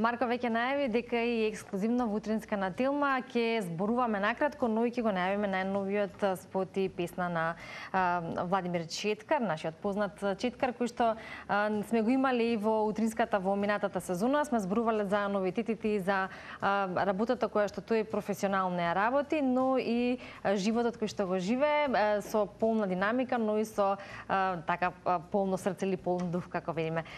Марко веќе најави дека и ексклузивно во утринска на Телма ќе зборуваме накратко, но и ќе го најавиме најновиот спот и песна на Владимир Четкар, нашиот познат четкар, кој што сме го имали и во утринската во минатата сезона. Сме зборувале за новитетите и за работата која што тој професионално ја работи, но и животот кој што го живее со полна динамика, но и со така полно срце или полн дух, како видиме.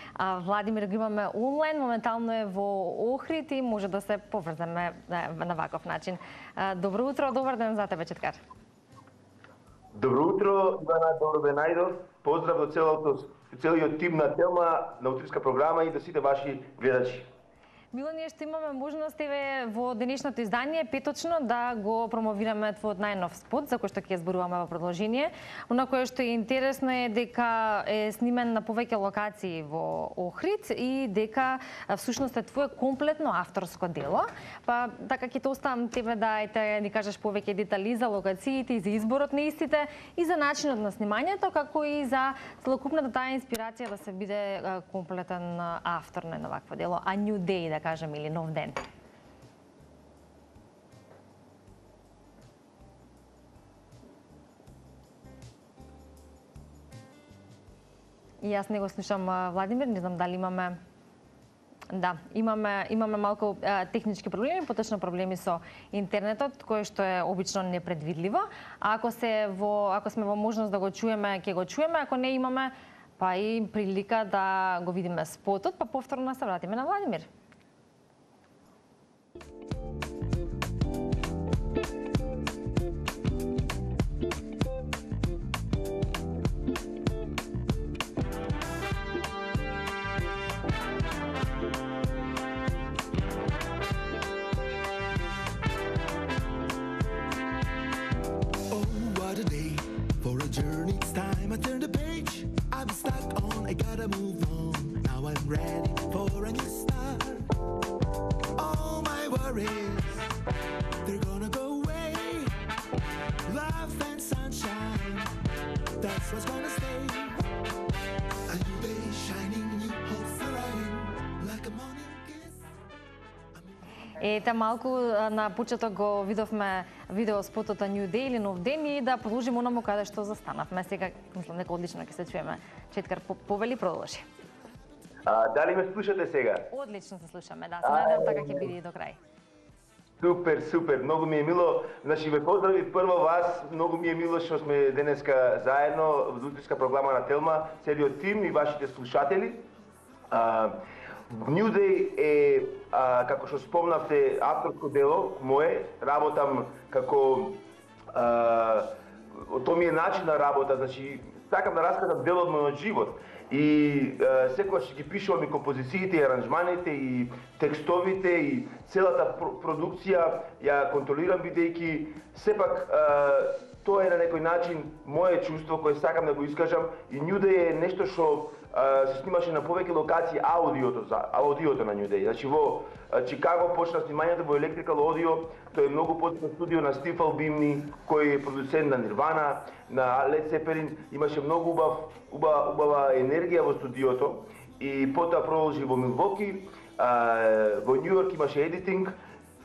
Владимир го имаме онлайн, моментално е во Охрид и може да се поврземе на ваков начин. Добро утро, добар ден за тебе, Четкар. Добро утро, Ивана, добро ден најдов. Поздрав до целиот тим на Телма, на утринска програма и до сите ваши гледачи. Мило ние што имаме можност во денешното издание петочно да го промовираме твојот најнов спот, за кој што ќе зборуваме во продолжение. Оно кое што е интересно е дека е снимен на повеќе локации во Охрид и дека всушност е твое комплетно авторско дело. Па така ќе те оставам тебе да ни кажеш повеќе детали за локациите и за изборот на истите и за начинот на снимањето, како и за целокупната таа инспирација да се биде комплетен автор на вакво дело, a new day да кажем, или нов ден. И јас не го слушам Владимир, не знам дали имаме... Да, имаме малку технички проблеми, поточно проблеми со интернетот, кој што е обично непредвидливо. А ако сме во можност да го чуеме, ќе го чуеме, ако не имаме, па и прилика да го видиме спотот, па повторно се вратиме на Владимир. Ете, малку на почеток го видовме видеоспотот a New Day или нов ден и да продолжиме онаму каде што застанавме. Сега, мислам, дека одлично ќе се чуеме. Четкар, повели, продолжи. Дали ме слушате сега? Одлично се слушаме, да. Се надевам така ќе биде и до крај. Супер, супер, многу ми е мило. Значи, ве поздрави прво вас, многу ми е мило што сме денеска заедно во утринска програма на Телма, целиот тим и вашите слушатели. New Day е, како што спомнавте, авторско дело мое, работам како... Тоа ми е начин на работа, значи, сакам да раскажам дел од мојот живот. И секогаш ги пишувам и композициите, и аранжманите, и текстовите, и целата продукција ја контролирам бидејќи сепак тоа е на некој начин моје чувство кое сакам да го искажам и New Day е нешто што се снимаше на повеќе локации аудиото на New Day. Значи во Чикаго почна снимањето во Electrical Audio, тоа е многу познато студио на Стив Албини, кој е продуцент на Nirvana, на Led Zeppelin, имаше многу убава енергија во студиото и потоа продолжи во Милвоки, во Нью Йорк имаше едитинг,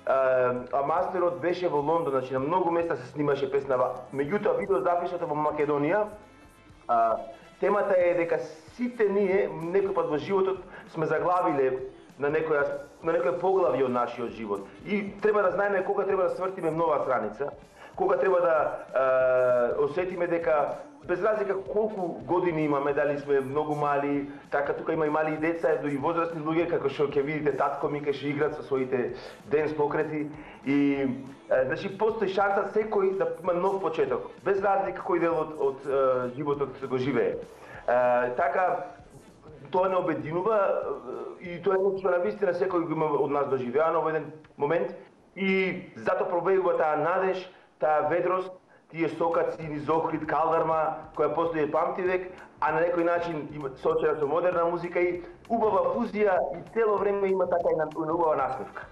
а мастерот беше во Лондон, значи на многу места се снимаше песнава. Меѓутоа видео запишата во Македонија, темата е дека сите ние некој пат во животот сме заглавиле на некој поглавје од нашиот живот. И треба да знаеме кога треба да свртиме нова страница, кога треба да осетиме дека без разлика колку години имаме, дали сме многу мали, така тука има и мали деца, и возрастни луѓе, како што ќе видите татко ми ќе играат со своите денс покрети и значи постои шанса секој да има нов почеток, без разлика кој дел од животот го живее. Така тоа не обединува и тоа е нешто на вистина секој го има од нас доживеано во еден момент и затоа пробегува таа надеж, таа ведрост, тие сокаци низ Охрид, Калдарма, која постои памти век, а на некој начин сочена со модерна музика и убава фузија и цело време има така и убава насмевка.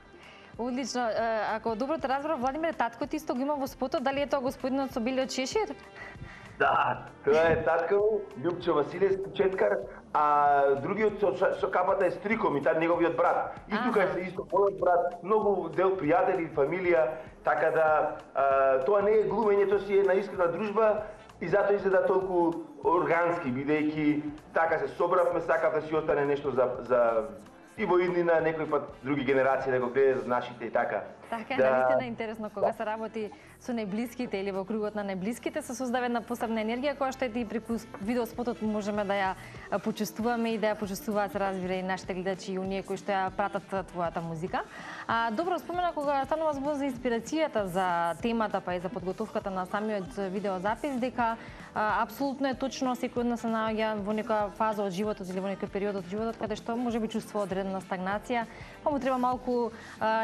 Одлично. Ако добро те разбрав, Владимир, татко ти исто го има во спотот, дали е тоа господинот со белиот шешир? Да, тоа е татко ми, Љупчо Василевски Четкар, а другиот со капата е стриком и таа неговиот брат. И тука е исто мојот брат, многу дел пријатели, фамилија, така да тоа не е глумење, тоа си е на искрена дружба и затоа изгледа толку органски, бидејќи така се собравме, сакав да си остане нешто за и во иднина, некој пат други генерации да го гледат нашите и така. Така е, навистина интересно кога се работи со најблиските или во кругот на најблиските се создава една посебна енергија која што и преку видеоспотот можеме да ја почувствуваме и да ја почувствуваат, разбира, и нашите гледачи и оние кои што ја пратат твојата музика. Добро спомена кога станува збор за инспирацијата за темата па и за подготовката на самиот видеозапис дека апсолутно е точно секој од нас се наоѓа во некоја фаза од животот или во некој период од животот каде што можеби чувствува одредена стагнација, па му треба малку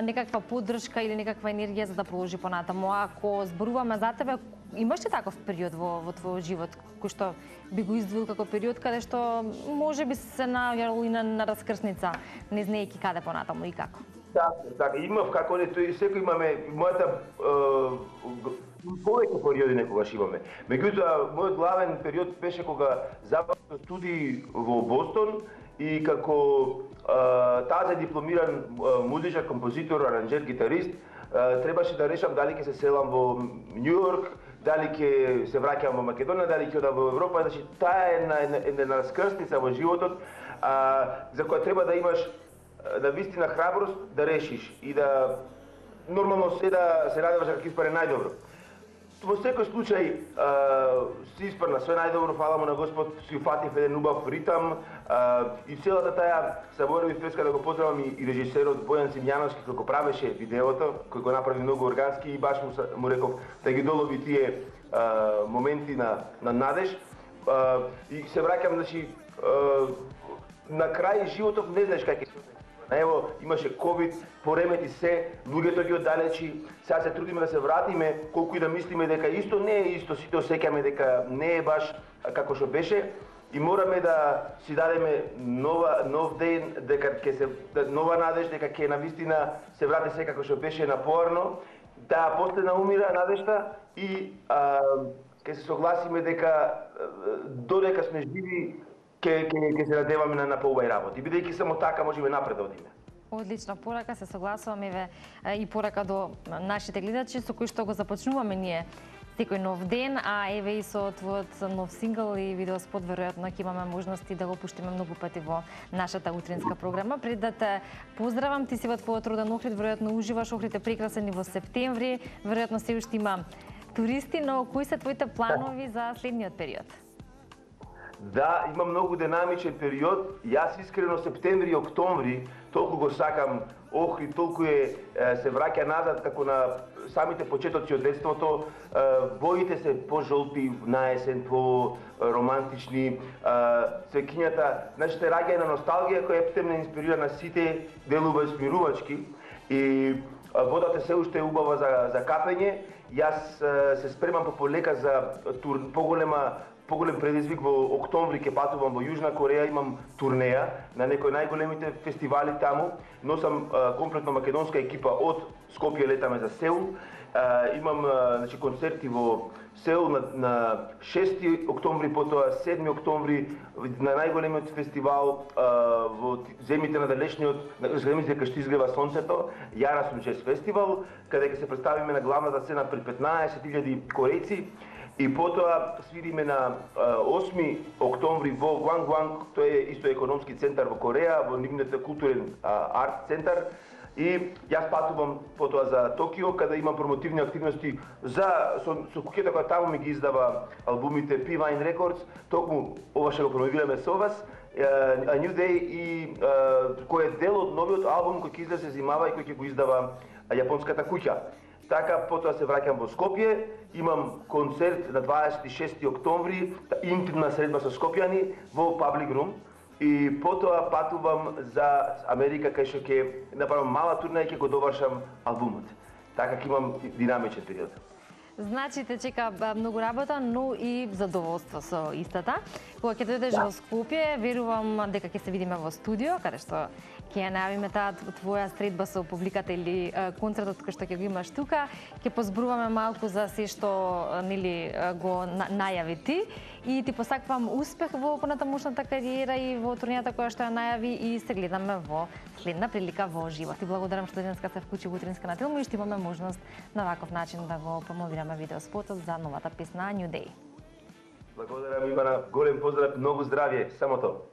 некаква поддршка или некаква енергија за да продолжи понатаму. Ако зборуваме за тебе, имаш ли таков период во твојот живот кој што би го издвоил како период каде што можеби се наоѓал и на раскрсница, не знаејќи каде понатаму и како? Така, имав како не тој секој имаме мојата повеќе периоди некогаш имаме. Меѓутоа, мојот главен период беше кога завршив студии во Бостон и како тази дипломиран музичар, композитор, аранџер, гитарист, требаше да решам дали ќе се селам во Њу Јорк, дали ќе се враќам во Македонија, дали ќе одам во Европа, значи таа е една раскрсница во животот за која треба да имаш на вистина храброст да решиш и да нормално се надеваш дека ќе испаре најдобро. Во секој случај се испрна све најдобро, фала му на Господ, си уфатив еден убав ритам и целата таа заборавив преска да го поздравам и режисерот Бојан Симјановски кој го правеше видеото, кој го направи многу органски и баш му реков да ги долови тие моменти на надеж и се враќам, значи на крај животот не знаеш како ќе се. Ево, имаше ковид, поремети се, луѓето ги оддалечи, сега се трудиме да се вратиме, колку и да мислиме дека исто не е исто, сите осеќаме дека не е баш како што беше и мораме да си дадеме нов ден, дека ќе се нова надеж, дека ќе навистина се врати се како што беше напорно, таа последна умира надежта и ќе се согласиме дека додека сме живи ќе се надеваме на поубави работи. Бидејќи само така можеме напред да одиме. Одлична порака, се согласувам и порака до нашите гледачи со кои што го започнуваме ние секој нов ден, а еве и со твојот нов сингл и видеоспот веројатно ќе имаме можности да го пуштиме многу пати во нашата утринска програма. Пред да те поздравам, ти си во твојот роден Охрид, веројатно уживаш, Охрид е прекрасен и во септември, веројатно се уште има туристи, но кои се твоите планови за следниот период? Да, има многу динамичен период. Јас искрено септември и октомври толку го сакам Охрид, толку се враќа назад како на самите почетоци од детството. Боите се пожолти на есен, по романтични. Цвеќињата, значи се раѓа една носталгија која ептемне инспирира на сите делува смирувачки и водата се уште е убава за капење. Јас се спремам полека за поголем предизвик. Во октомври ќе патувам во Јужна Кореја, имам турнеја на некои најголемите фестивали таму. Носам комплетно македонска екипа од Скопје, летаме за Сеул. Имам значи концерти во Сеул на 6 октомври, потоа 7 октомври на најголемиот фестивал во земите на далечниот, земите кај што изгрева сонцето, Јара Сунчес фестивал, каде ќе се представиме на главната сцена пред 15.000 корејци. И потоа свириме на 8 октомври во Гуангуанг, тој е исто економски центар во Кореја, во нивниот културен арт центар. И јас патувам потоа за Токио, каде имам промотивни активности со куќата која таму ми ги издава албумите P-Vine Records, токму ова што го промовираме со вас, A New Day, и кој е дел од новиот албум кој ќе излезе зимава и кој ќе го издава јапонската куќа. Така, потоа се враќам во Скопје, имам концерт на 26 октомври, интимна средба со скопјани во Public Room, и потоа патувам за Америка, кај што ќе направам мала турнеја и ќе го довршам албумот. Така ќе имам динамичен период. Значи те чека многу работа, но и задоволство со истата. Кога ќе дојдеш во Скопје, верувам дека ќе се видиме во студио, каде што ќе ја најавиме таа твоја средба со публиката или концертот кој што ќе го имаш тука, ќе позборуваме малку за се што нели го најави ти и ти посакувам успех во понатамошната кариера и во турнијата која што ја најави и се гледаме во следна прилика во живот. И благодарам што денеска се вклучи во Утринска на Телма и што имаме можност на ваков начин да го промовираме видеоспотот за новата песна New Day. Благодарам, Ивана, голем поздрав, многу здравје, само тоа.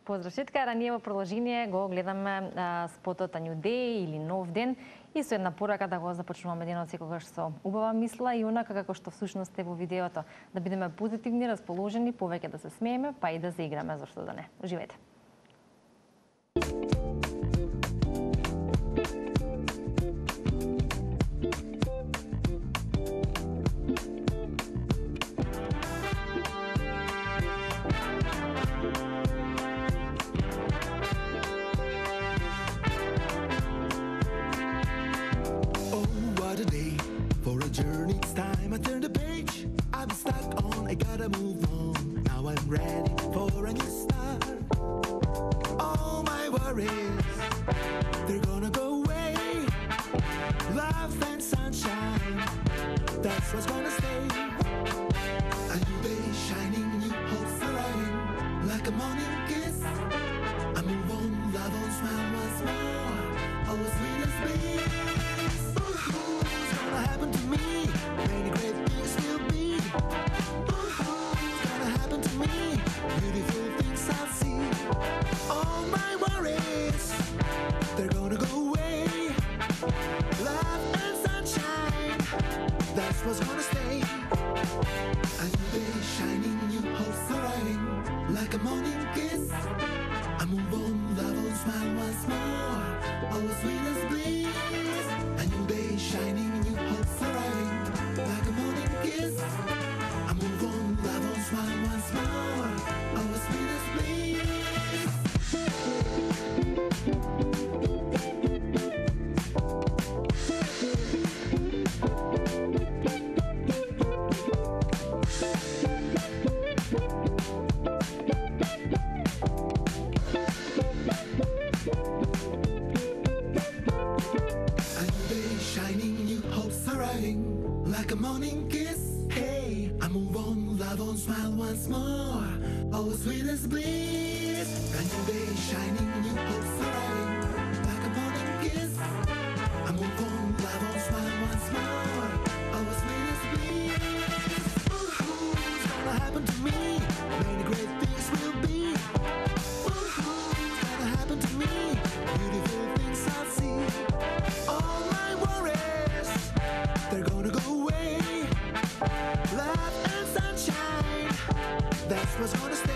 Поздрав, Четкар, ние во продолжение го гледаме спотот New Day или Нов ден и со една порака да го започнуваме денот секогаш со убава мисла и онака како што всушност е во видеото, да бидеме позитивни, расположени, повеќе да се смееме, па и да заиграме, зашто да не. Уживајте. Ready for a new start. All my worries, they're gonna go away. Love and sunshine, that's what's gonna stay. A new day shining, new hope surrounding, like a morning kiss. I move on, love on, smile once more. Oh, sweet as bliss. What's gonna happen to me? Many great things will be. Beautiful things I'll see. All my worries, they're gonna go away. Love and sunshine, that's what's gonna stay. A new day shining, new hope surrounding, like a morning kiss. I move on, love on, smile once more. Oh, sweet as bliss. A new day shining, new hope surrounding, like a morning kiss. I move on, love on, smile once more. Oh, sweet as bliss. A new day shining, new hope surrounding, like a morning kiss. Hey, I move on, love on, smile once more. Oh, sweet as bliss. A new day shining, new hope surrounding, like a morning kiss. I move on, love on, smile once more. Oh, sweet as bliss. What's gonna happen to me? Many great things will be. What's gonna happen to me? Beautiful things I'll see. All my worries, they're gonna go away. Love and sunshine, that's what's gonna stay.